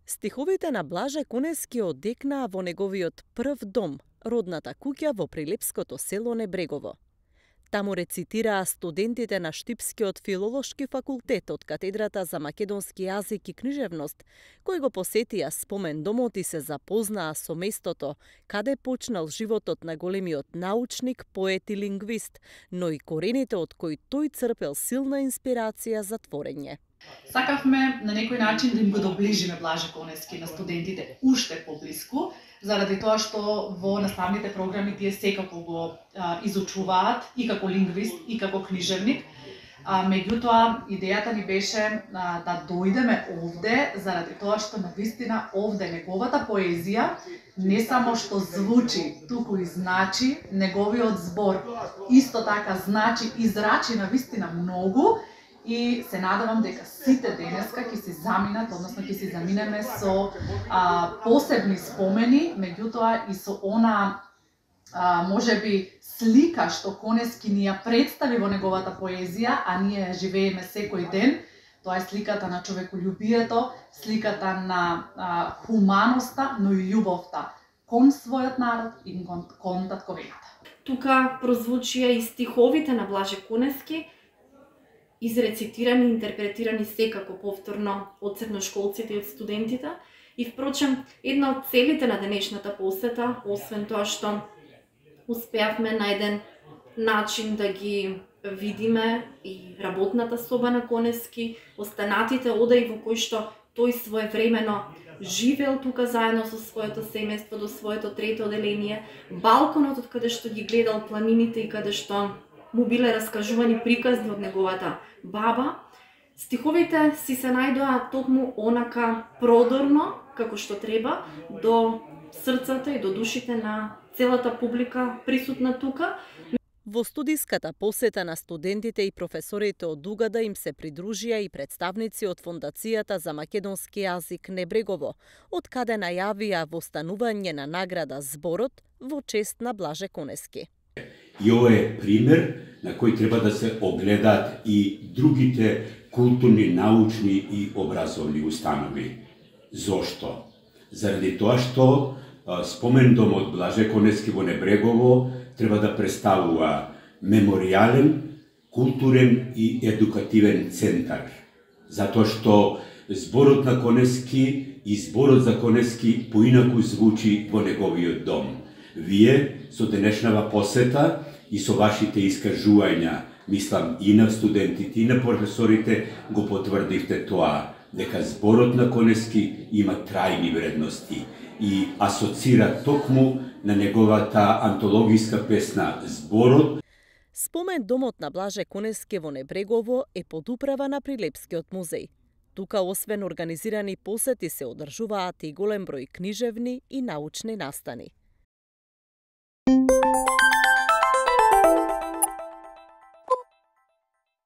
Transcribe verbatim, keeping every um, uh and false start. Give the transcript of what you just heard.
Стиховите на Блаже Конески одекнаа во неговиот прв дом, родната куќа во прилепското село Небрегово. Таму рецитираа студентите на Штипскиот филолошки факултет од катедрата за македонски јазик и книжевност, кои го посетија спомен домот и се запознаа со местото каде почнал животот на големиот научник, поет и лингвист, но и корените од кои тој црпел силна инспирација за творење. Сакавме на некој начин да им го доближиме Блаже Конески на студентите уште поблиску, заради тоа што во наставните програми тие секако го а, изучуваат и како лингвист и како книжевник. А, меѓутоа, идејата ни беше а, да дојдеме овде заради тоа што навистина овде неговата поезија не само што звучи, туку и значи, неговиот збор исто така значи и зрачи навистина многу. И се надевам дека сите денеска ќе се заминат, односно ќе се заминеме со а, посебни спомени, меѓутоа и со она а, можеби слика што Конески ни ја представи во неговата поезија, а ние ја живееме секој ден. Тоа е сликата на човеколюбието, сликата на а, хуманоста, но и љубовта кон својот народ и кон, кон татковината. Тука прозвучија и стиховите на Блаже Конески, изрецитирани и интерпретирани секако повторно од средношколците и од студентите. И впрочем, една од целите на денешната посета, освен тоа што успеавме на еден начин да ги видиме и работната соба на Конески, останатите одаи во кои што тој своевремено живеел тука заедно со своето семејство до своето трето оделение, балконот од каде што ги гледал планините и каде што му биле раскажувани приказни од неговата баба. Стиховите си се најдоа токму онака продорно, како што треба, до срцата и до душите на целата публика присутна тука. Во студиската посета на студентите и професорите од Угада им се придружија и представници од Фондацијата за македонски јазик Небрегово, од каде најавија востанување на награда Зборот во чест на Блаже Конески. И ovo je primer na koji treba da se ogledat i drugite kulturni, naučni i obrazovni ustanovi. Zašto? Zaradi toa što spomen dom od Blaže Koneski vo Nebregovo treba da predstavува memorialen, kulturen i edukativen centar. Zato što zborot na Koneski i zborot za Koneski poinaku zvuči vo неговиот дом. Вие со денешнава посета и со вашите искажувања, мислам и на студентите и на професорите, го потврдивте тоа, дека зборот на Конески има трајни вредности и асоцира токму на неговата антологиска песна Зборот. Спомен домот на Блаже Конески во Небрегово е под управа на Прилепскиот музеј. Тука освен организирани посети се одржуваат и голем број книжевни и научни настани.